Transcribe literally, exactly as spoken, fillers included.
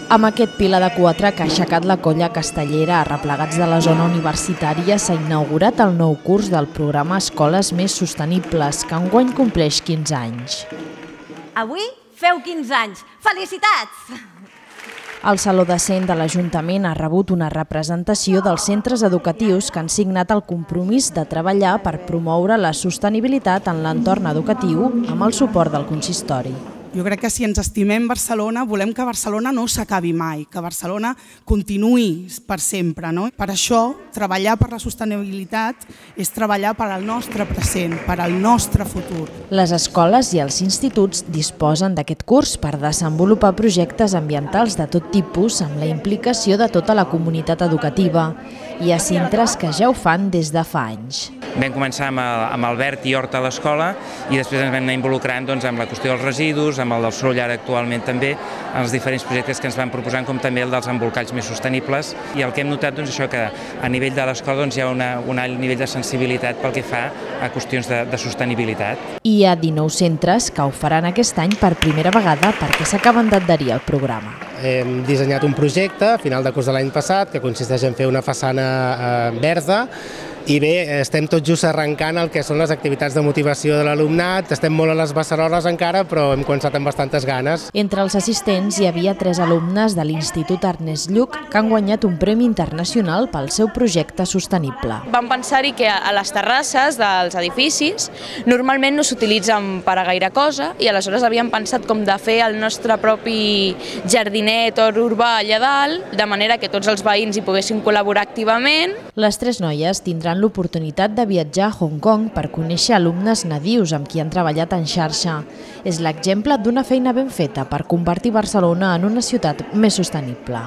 Amb aquest pilar de quatre que ha aixecat la colla castellera a replegats de la zona universitària s'ha inaugurat el nou curs del programa Escoles Més Sostenibles, que enguany compleix quinze anys. Avui feu quinze anys. Felicitats! El Saló de Cent de l'Ajuntament ha rebut una representació dels centres educatius que han signat el compromís de treballar per promoure la sostenibilitat en l'entorn educatiu amb el suport del consistori. Jo crec que si ens estimem Barcelona, volem que Barcelona no s'acabi mai, que Barcelona continuï per sempre. Per això, treballar per la sostenibilitat és treballar per al nostre present, per al nostre futur. Les escoles i els instituts disposen d'aquest curs per desenvolupar projectes ambientals de tot tipus amb la implicació de tota la comunitat educativa. Hi ha centres que ja ho fan des de fa anys. Vam començar amb Albert i Horta a l'escola i després ens vam anar involucrant amb la qüestió dels residus, amb el del soroll ara actualment també, en els diferents projectes que ens van proposant, com també el dels embolcalls més sostenibles. I el que hem notat és que a nivell de l'escola hi ha un alt nivell de sensibilitat pel que fa a qüestions de sostenibilitat. Hi ha dinou centres que ho faran aquest any per primera vegada perquè s'acaben d'adherir al programa. Hem dissenyat un projecte a final de curs de l'any passat que consisteix en fer una façana verda. I bé, estem tot just arrencant el que són les activitats de motivació de l'alumnat, estem molt a les beceroles encara, però hem començat amb bastantes ganes. Entre els assistents hi havia tres alumnes de l'Institut Ernest Lluch que han guanyat un premi internacional pel seu projecte sostenible. Vam pensar-hi que a les terrasses dels edificis normalment no s'utilitzen per a gaire cosa i aleshores havíem pensat com de fer el nostre propi jardinet o urbà allà dalt, de manera que tots els veïns hi poguessin col·laborar activament. Les tres noies tindran l'oportunitat de viatjar a Hong Kong per conèixer alumnes nadius amb qui han treballat en xarxa. És l'exemple d'una feina ben feta per convertir Barcelona en una ciutat més sostenible.